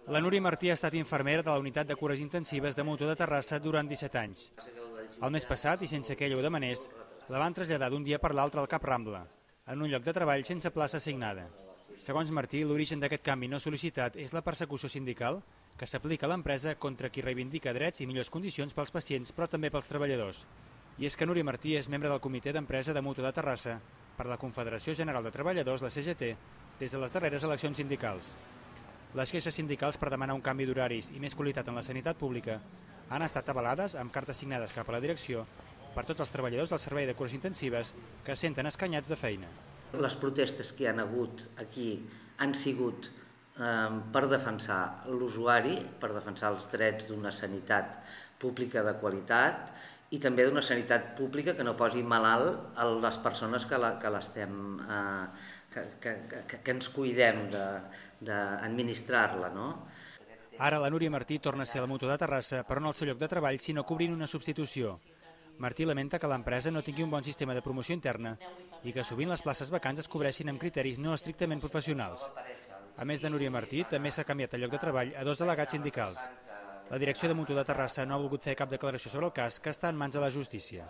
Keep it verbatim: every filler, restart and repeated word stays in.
La Núria Martí ha estat infermera de la unitat de cures intensives de Mutu de Terrassa durant disset anys. El mes passat, i sense que ella ho demanés, la van traslladar d'un dia per l'altre al Cap Rambla, en un lloc de treball sense plaça assignada. Segons Martí, l'origen d'aquest canvi no sol·licitat és la persecució sindical que s'aplica a l'empresa contra qui reivindica drets i millors condicions pels pacients, però també pels treballadors. I és que Núria Martí és membre del comitè d'empresa de Mutu de Terrassa per la Confederació General de Treballadors, la C G T, des de les darreres eleccions sindicals. Les queixes sindicals per demanar un canvi d'horaris i més qualitat en la sanitat pública han estat avalades amb cartes signades cap a la direcció per tots els treballadors del servei de cures intensives que es senten escanyats de feina. Les protestes que hi han hagut aquí han sigut eh, per defensar l'usuari, per defensar els drets d'una sanitat pública de qualitat i també d'una sanitat pública que no posi malalt a les persones que, la, que l'estem... Eh, Que, que, que, que ens cuidem d'administrar-la, no? Ara la Núria Martí torna a ser a la Mutu de Terrassa, però no al seu lloc de treball, sinó cobrint una substitució. Martí lamenta que l'empresa no tingui un bon sistema de promoció interna i que sovint les places vacants es cobreixin amb criteris no estrictament professionals. A més de Núria Martí, també s'ha canviat el lloc de treball a dos delegats sindicals. La direcció de Mutu de Terrassa no ha volgut fer cap declaració sobre el cas, que està en mans de la justícia.